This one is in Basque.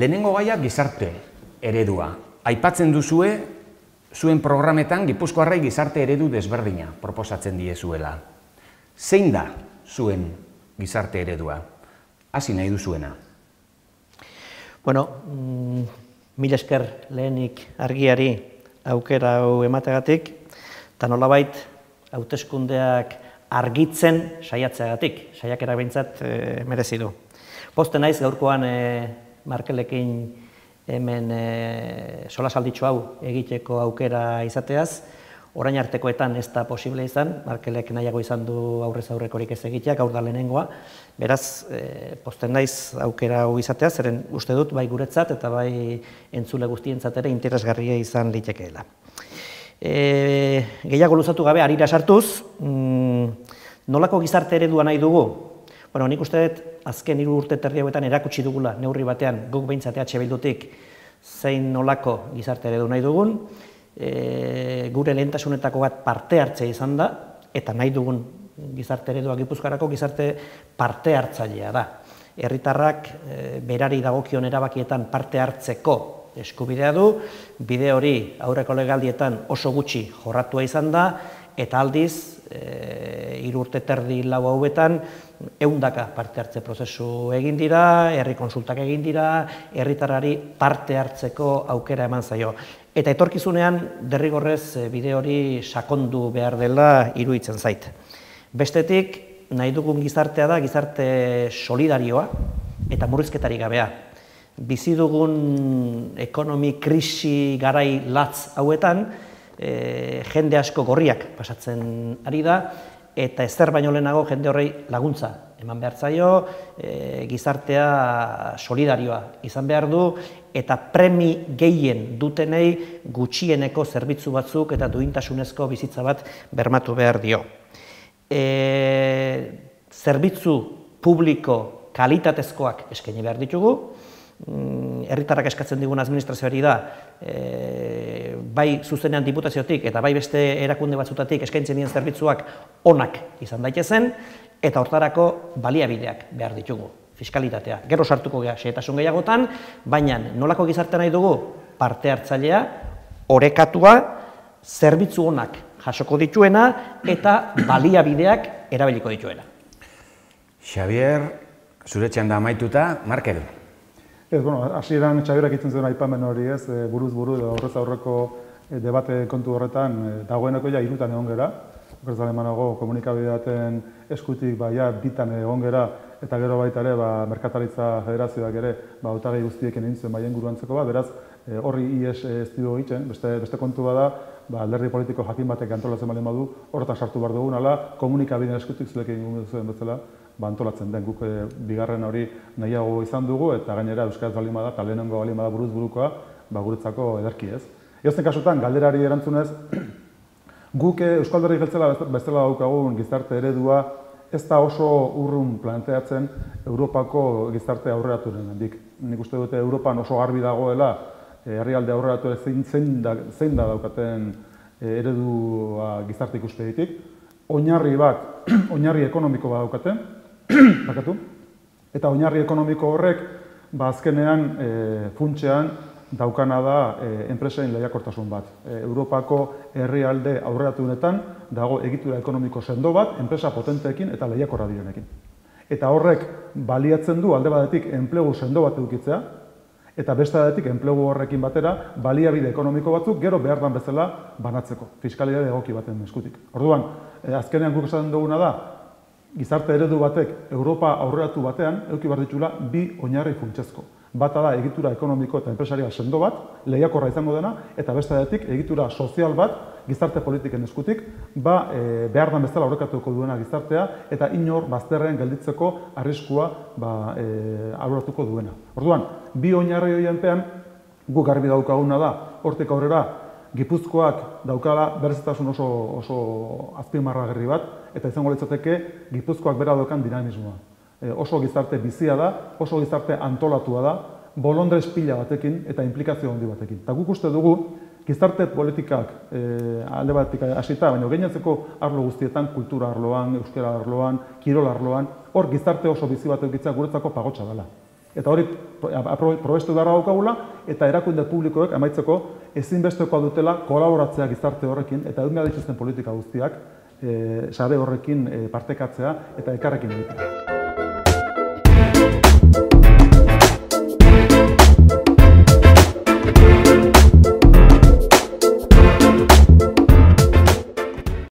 Lehenengo gaia gizarte eredua. Aipatzen duzue, zuen programetan Gipuzkoarrei gizarte eredu desberdina proposatzen diezuela. Zein da zuen gizarte eredua? Hasi nahi duzuena. Bueno, mila esker lehenik argiari aukera hau emategatik, eta nolabait hauteskundeak argitzen saiatzeagatik, saiakera behintzat merezi du. Pozten naiz gaurkoan Markelekin hemen solasalditxo hau egiteko aukera izateaz, orain artekoetan ez da posible izan, Markelek nahiago izan du aurrez aurrekorik ez egiteak, gaur da lehenengoa, beraz, pozten naiz aukera hau izateaz, zeren uste dut bai guretzat eta bai entzule guztientzat ere interesgarria izan litekeela. Gehiago luzatu gabe, harira sartuz, nolako gizarte eredua nahi dugu? Bueno, nik uste dut, azken 3 urte terdi hauetan erakutsi dugula, neurri batean, guk behintzat EH Bildutik, zein nolako gizarte eredu nahi dugun, gure lehentasunetako bat parte hartzea izan da, eta nahi dugun gizarte eredua Gipuzkoarako gizarte parte hartzailea da. Herritarrak berari dagokion erabakietan parte hartzeko eskubidea du, bide hori aurreko legaldietan oso gutxi jorratua izan da, eta aldiz, 3 urte terdi lau hauetan, 100 parte hartze prozesu egin dira, herri konsultak egin dira, herritarrari parte hartzeko aukera eman zaio. Eta etorkizunean, derrigorrez bide hori sakondu behar dela iruditzen zait. Bestetik, nahi dugun gizartea da, gizarte solidarioa eta murrizketarik gabea. Bizi dugun ekonomi krisi garai latz hauetan, jende asko gorriak pasatzen ari da, eta ezer baino lehenago jende horrei laguntza eman behar zaio, gizartea solidarioa izan behar du, eta premi gehien dutenei gutxieneko zerbitzu batzuk eta duintasunezko bizitza bat bermatu behar dio. Zerbitzu publiko kalitatezkoak eskaini behar ditugu, herritarrak eskatzen digun administrazioari da, bai zuzenean diputaziotik eta bai beste erakunde batzutatik eskaintzen dien zerbitzuak onak izan daitezen, eta hortarako baliabideak behar ditugu, fiskalitatea. Gero sartuko gara xehetasun gehiagotan, baina nolako gizarte nahi dugu parte hartzailea, orekatua, zerbitzu onak jasoko dituena eta baliabideak erabiliko dituena. Xabier, zure txanda amaituta, Markel. Ez, bueno, hasieran Xabierak itzen zuen aipamen hori ez, buruz buru edo aurrez aurreko debate kontu horretan dagoeneko ja 3 egon gera. Okerez alemanago komunikabide baten eskutik bitan egon gera, eta gero baita ere Merkataritza Federazioak ere hautagai guztiekin egin zuen baien guruantzeko bat, beraz horri ies ez dugu egiten, beste kontu bada, alderdi politiko jakin batek antolatzen baldin badu, horretan sartu behar dugun, ala komunikabideen eskutik zulekin egun zuen bezala, antolatzen den guk bigarren hori nahiago izan dugu, eta gainera euskaraz baldin bada, eta lehenengo baldin bada buruz burukoa, guretzako ederki ez. Edozein kasutan, galderari erantzunez, guk Euskal Herri Jeltzela bezala daukagun gizarte eredua ez da oso urrun planteatzen Europako gizarte aurreraturengandik. Nik uste dute Europan oso garbi dagoela herrialde aurreratu zein da daukaten eredua gizarte ikuspegitik. Oinarri bat, oinarri ekonomiko bat daukaten, eta oinarri ekonomiko horrek azkenean funtsean daukana da enpresen lehiakortasun bat. Europako herrialde aurreratuenetan dago egitura ekonomiko sendo bat, enpresa potenteekin eta lehiakorra direnekin. Eta horrek baliatzen du alde batetik enplegu sendo bat edukitzea, eta beste batetik enplegu horrekin batera baliabide ekonomiko batzuk gero behar dan bezala banatzeko, fiskalidade egoki baten eskutik. Orduan, azkenean guk esaten duguna da, gizarte eredu batek Europa aurreratu batean eduki behar ditula 2 oinarri funtsezko. Bata da egitura ekonomiko eta enpresaria sendo bat, lehiakorra izango dena, eta beste batetik egitura sozial bat, gizarte politiken eskutik, behar dan bezala aurrekatuko duena gizartea, eta inor bazterrean gelditzeko arriskua aurreratuko duena. Orduan, 2 oinarri horienpean, guk garbi daukaguna da, hortik aurrera, Gipuzkoak daukala berezitasun oso azpimarragarri bat, eta izango litzateke Gipuzkoak bera daukan dinamismoa. Oso gizarte bizia da, oso gizarte antolatua da, bolondrez pila batekin eta implikazio handi batekin. Eta guk uste dugu, gizarte politikak alde batetik hasita, baina gainontzeko arlo guztietan, kultura arloan, euskara arloan, kirol arloan, hor gizarte oso bizi bat edukitzea guretzako pagotxa dela. Eta hori probestu beharra daukagula, eta erakunde publikoek amaitzeko ezinbestekoa dutela kolaboratzea gizarte horrekin, eta egun behar dituzten politika guztiak sare horrekin partekatzea eta elkarrekin egitea.